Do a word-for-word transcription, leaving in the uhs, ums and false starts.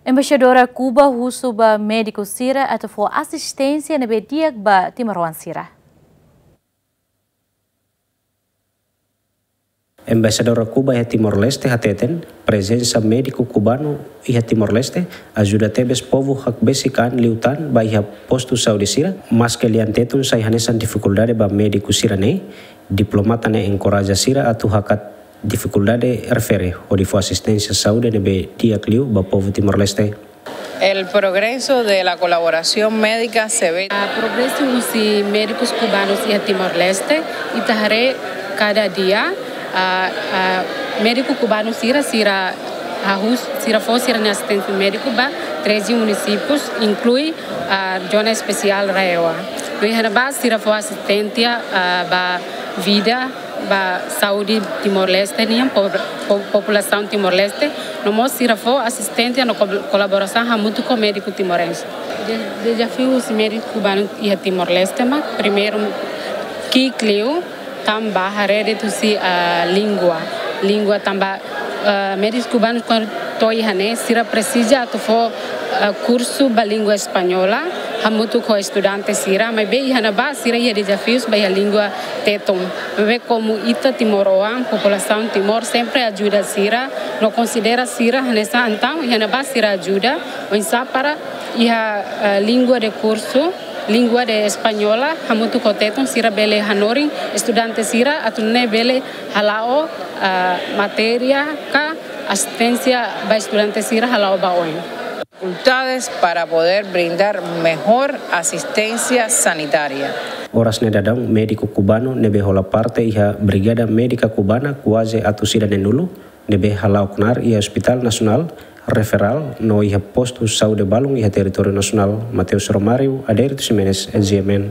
Embaixadora Kuba husu ba médiku sira atu fó asisténsia ne'ebé di'ak ba timoroan sira. Embaixadora Kuba iha Timor-Leste hateten, prezensa médiku kubanu iha Timor-Leste ajuda tebes povu hakbesik an liután ba iha postu saúde sira, maske lian Tetun sai hanesan difikuldade ba médiku sira-ne'e, diplomata ne'e enkoraja sira atu hakat difikuldade refere hodi fó asisténsia saúde ne'ebé di'ak liu ba povu Timor-Leste. El progreso de la colaboración médica se ve. Ah, progresu husi médikus kubanus iha Timor-Leste, ita haree kada dia, ah, ah, médiku kubanu sira, sira hahú, sira fó sira-nia asisténsia médiku ba treze munisípius, inklui, ah, zona espesiál RAEOA. No iha ne'ebá sira fó asisténsia, ah, ba vida, ba saúde Timor-Leste nian, po-, po-, populasaun Timor-Leste, no mós sira fó asisténsia no ko-, kolaborasaun hamutuk ho médiku timorense. De-, dezafiu husi médiku kubanu iha Timor-Leste mak, primeiru, ki'ik liu, tanba haree de'it husi, ah, língua. Língua tanba, ah, médikus kubanus kuandu to'o iha ne'e, sira presiza atu fó, ah, kursu ba língua espanhola, hamutuk ho estudante sira, maibé iha ne'ebá sira iha dezafius ba iha língua Tetun. Maibé komu ita timoroan, populasaun Timor sempre ajuda sira, no konsidera sira hanesan, entaun iha ne'ebá sira ajuda, oinsá para iha, eh, língua de kursu, língua de espanhola, hamutuk ho Tetun sira bele hanorin estudante sira atu nune'e bele hala'o, eh, matéria ka asisténsia ba estudante sira hala'o ba oin. Facultades para poder brindar mejor asistencia sanitaria. Oras ne'e daudaun médiku kubanu ne'ebé hola parte iha Brigada Médika Kubana kuaze atus ida neenulu, ne'ebé hala'o knaar iha Hospital Nasionál Referral no iha postu saúde balun iha territóriu nasionál. Mateus Romário, Adérito Ximenes, G M N.